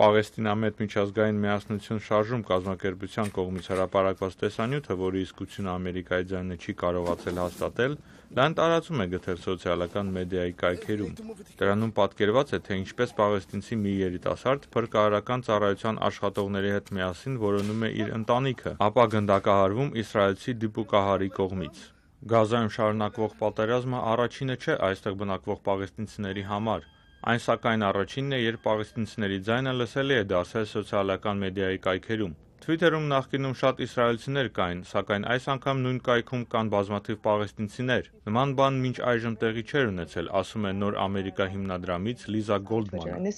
Պաղեստինամետ միջազգային միասնություն շարժում կազմակերպության կողմից հրապարակված տեսանյութը, որի իսկությունը Ամերիկայի ձայնը չի կարողացել հաստատել, լայն տարածում է գտել սոցիալական մեդիայի կայքերում։ Դրանում պատկերված է, թե ինչպես պաղեստինցի մի երիտասարդ փրկարարական ծառայության աշխատողների հետ միասին որոնում է իր ընտանիքը, ապա գնդակահարվում իսրայելցի դիպուկահարի կողմից։ Գազայում շարունակվող պատերազմը առաջինը չէ այստեղ բնակվող պաղեստինցիների համար։ Այն սակայն առաջինն է, երբ պաղեստինցիների ձայնը լսելի է դարձել սոցիալական մեդիայի կայքերում։ Թվիթերում նախկինում շատ իսրայելցիներ կային, սակայն այս անգամ նույն կայքում կան բազմաթիվ պաղեստինցիներ։ Նման բան մինչ այժմ տեղի չէր ունեցել, ասում է Նոր Ամերիկա հիմնադրամից Լիզա Գոլդմանը։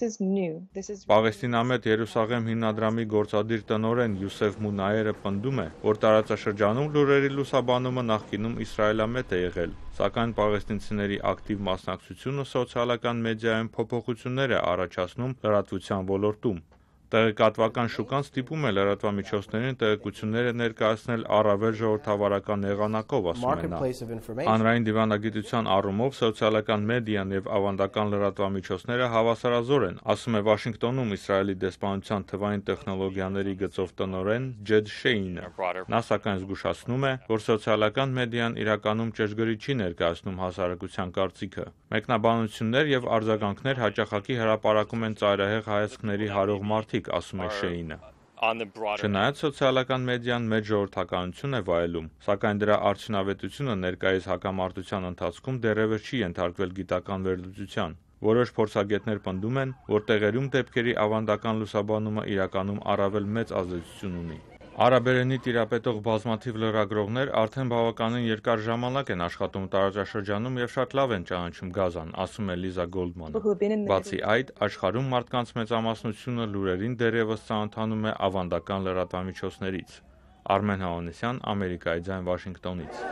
Պաղեստինամետ Երուսաղեմ հիմնադրամի գործադիր տնօրեն Յուսեֆ Մունայերը պնդում է, որ տարածաշրջանում լուրերի լուսաբանումը նախկինում իսրայելամետ է եղել, սակայն պաղեստինցիների ակտիվ մասնակցությունը սոցիալական մեդիայում փոփոխություններ է առաջացնում լրատվության ոլորտում։ Տեղեկատվական շուկան ստիպում է լրատվամիջոցներին տեղեկությունները ներկայացնել առավել ժողովրդավարական եղանակով, ասում է նա։ Հանրային դիվանագիտության առումով սոցիալական մեդիան եւ ավանդական լրատվամիջոցները հավասարազոր են, ասում է Վաշինգտոնում Իսրայելի դեսպանության թվային տեխնոլոգիաների գծով տնօրեն Ջեդ Շեյնը։ Նա սակայն զգուշացնում է, որ սոցիալական մեդիան իրականում ճշգրիտ չի ներկայացնում հասարակության կարծիքը։ Մեկնաբանություններ եւ արձագանքներ հաճախակի հրապարակում են ծայրահեղ հայացքների հարող մարդիկ, ասում է Շեյնը։ Չնայած սոցիալական մեդիան մեծ ժողովրդականություն է վայելում, սակայն դրա արդյունավետությունը ներկայիս հակամարտության ընթացքում դեռևս չի ենթարկվել գիտական վերլուծության։ Որոշ փորձագետներ պնդում են, որ տեղերում դեպքերի ավանդական լուսաբանումը իրականում առավել մեծ ազդեցություն ունի։ Արաբերենի տիրապետող բազմաթիվ լրագրողներ արդեն բավականին երկար ժամանակ են աշխատում տարածաշրջանում եւ շատ լավ են ճանաչում Գազան, ասում է Լիզա Գոլդմանը։ Բացի այդ, աշխարհում մարդկանց մեծամասնությունը լուրերին դեռևս ծանոթանում է ավանդական լրատվամիջոցներից։ Արմեն Հավանեսյան, Ամերիկայի ձայն, Վաշինգտոնից։